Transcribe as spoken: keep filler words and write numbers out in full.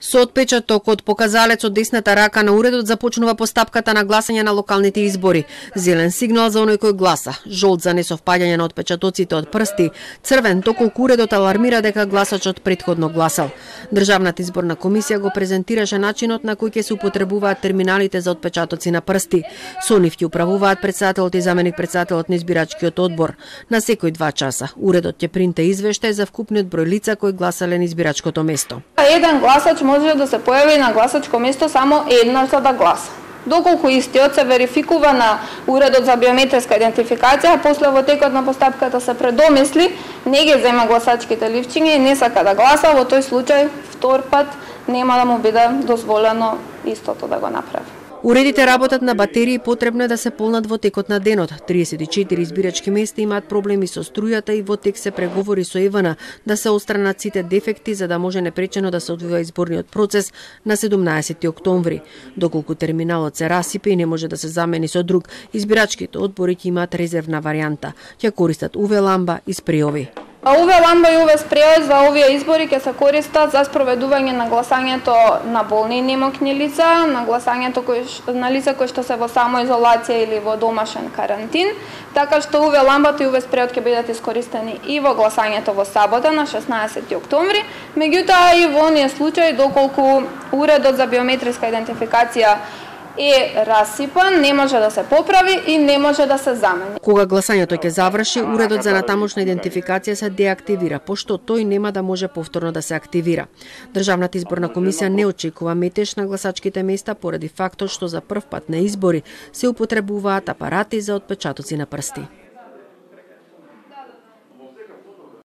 Со отпечаток од показалец од десната рака на уредот започнува постапката на гласање на локалните избори. Зелен сигнал за оној кој гласа, жолт за несовпаѓање на отпечатоците од прсти, црвен доколку уредот алармира дека гласачот претходно гласал. Државната изборна комисија го презентираше начинот на кој ќе се употребуваат терминалите за отпечатоци на прсти. Со нив ќе управуваат претседателот и заменик претседателот на избирачкиот одбор. На секој два часа уредот ќе принте извештај за вкупниот број лица кои гласале на избирачкото место. Еден гласач може да се појави на гласачко место само еднаш за да гласа. Доколку истиот се верификува на уредот за биометриска идентификација, после во текот на постапката се предомисли, не ги зема гласачките ливчиња и не сака да гласа, во тој случај втор пат нема да му биде дозволено истото да го направи. Уредите работат на батерии, потребно е да се полнат во текот на денот. триесет и четири избирачки места имаат проблеми со струјата и во тек се преговори со ЕВН да се отстранат сите дефекти за да може непречено да се одвива изборниот процес на седумнаесети октомври. Доколку терминалот се расипе и не може да се замени со друг, избирачките одбори ќе имаат резервна варијанта. Ќе користат УВ ламба и спреови. УВ ламба и УВ спреови за овие избори ќе се користат за спроведување на гласањето на болни и немокни лица, на гласањето кои, на лица кои што се во самоизолација или во домашен карантин, така што УВ ламбата и УВ спреот ќе бидат искористени и во гласањето во сабота на шеснаесети октомври, меѓутоа и во оние случаи доколку уредот за биометриска идентификација е расипан, не може да се поправи и не може да се замени. Кога гласањето ќе заврши, уредот за натамошна идентификација се деактивира, пошто тој нема да може повторно да се активира. Државната изборна комисија не очекува метеж на гласачките места поради фактот што за прв пат на избори се употребуваат апарати за отпечатоци на прсти.